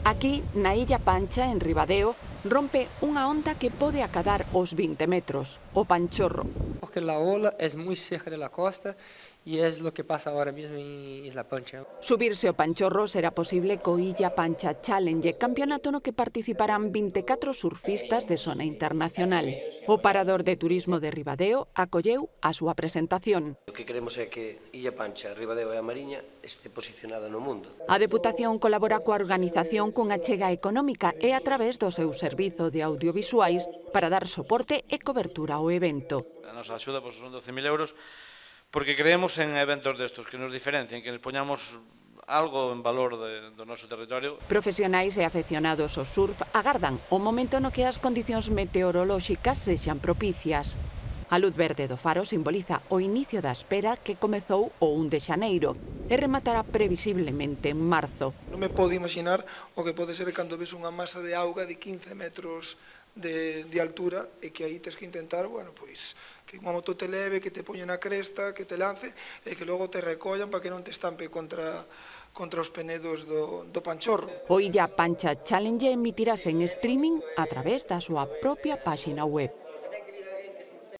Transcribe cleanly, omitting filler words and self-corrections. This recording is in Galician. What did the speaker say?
Aquí, na Illa Pancha, en Ribadeo, rompe unha onda que pode acadar os 20 metros, o Panchorro. Porque la ola es muy cerca de la costa y es lo que pasa ahora mismo en Isla Pancha. Subirse ao Panchorro será posible co Illa Pancha Challenge, campeonato no que participarán 24 surfistas de zona internacional. O Parador de Turismo de Ribadeo acolleu a súa presentación. O que queremos é que Illa Pancha, Ribadeo e a Mariña este posicionada no mundo. A Deputación colabora coa organización cunha achega económica e a través do seu servizo de audiovisuais para dar soporte e cobertura ao evento. A nosa axuda son 12.000 euros porque creemos en eventos destos que nos diferencien, que nos poñamos algo en valor do noso territorio. Profesionais e afeccionados ao surf agardan o momento no que as condicións meteorolóxicas sexan propicias. A luz verde do faro simboliza o inicio da espera que comezou o 1 de xaneiro e rematará previsiblemente en marzo. Non me podo imaginar o que pode ser cando ves unha masa de auga de 15 metros de altura e que aí tens que intentar, bueno, pois, que unha moto te leve, que te poña na cresta, que te lance e que logo te recollan para que non te estampe contra os penedos do Panchorro. O Illa Pancha Challenge emitirase en streaming a través da súa propia páxina web.